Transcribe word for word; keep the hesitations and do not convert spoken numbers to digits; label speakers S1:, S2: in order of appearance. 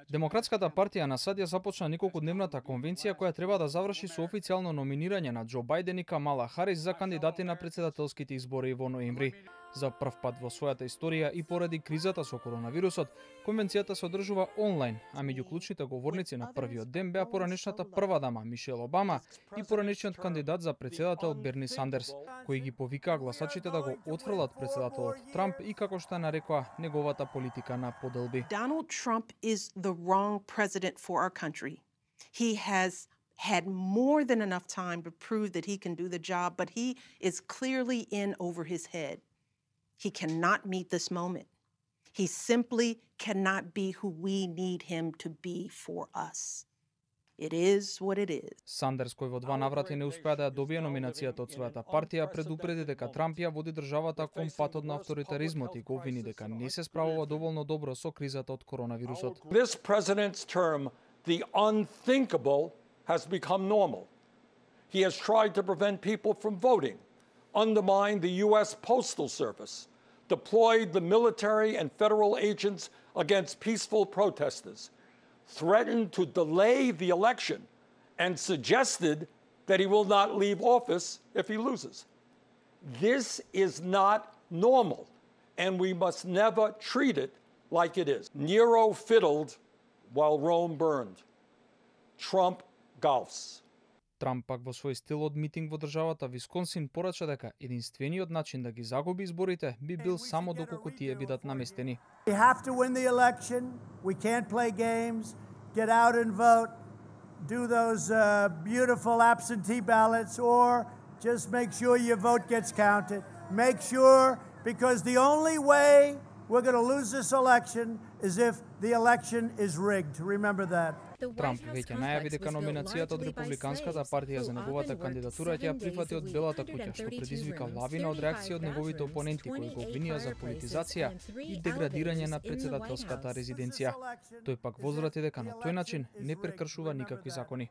S1: Демократската партија на САД ја започна неколкудневната конвенција која треба да заврши со официјално номинирање на Џо Бајден и Камала Харис за кандидати на претседателските избори во ноември. За прв пат во својата историја и поради кризата со коронавирусот, конвенцијата се одржува онлайн, а меѓу клучните говорници на првиот ден беа поранешната прва дама Мишел Обама и поранешниот кандидат за претседател Берни Сандерс, кои ги повикаа гласачите да го отфрлат претседателот Трамп и како што нарекоа неговата политика на поделби.
S2: Donald Trump is the wrong president for our country. He has had more than enough time to prove that he can do the job, but he is clearly in over his head. He cannot meet this moment. He simply cannot be who we need him to be for us. It is what it is.
S1: Сандерс, кој во два наврати не успеа да ја добие номинацијата од својата партија, предупреди дека Трамп ја води државата кон патот на авторитаризмот и го обвини дека не се справува доволно добро со кризата од коронавирусот.
S3: This president's term, the unthinkable has become normal. He has tried to prevent people from voting, undermined the U S Postal Service, deployed the military and federal agents against peaceful protesters, threatened to delay the election, and suggested that he will not leave office if he loses. This is not normal, and we must never treat it like it is. Nero fiddled while Rome burned. Trump golfs.
S1: Трамп пак во свој стил од митинг во државата Висконсин порача дека единствениот начин да ги загуби изборите би бил само доколку тие бидат наместени.
S4: We have to win the election. We can't play games. Get out and vote. Do those uh, beautiful absentee ballots or just make sure your vote gets counted. Make sure, because the only way we're going to lose this election is if the election is rigged. Remember that.
S1: Трамп веќе најави дека номинацијата од Републиканската партија за неговата кандидатура ќе ја прифати од Белата куќа, што предизвика лавина од реакции од неговите опоненти кои го обвинија за политизација и деградирање на претседателската резиденција. Тој пак возврати дека на тој начин не прекршува никакви закони.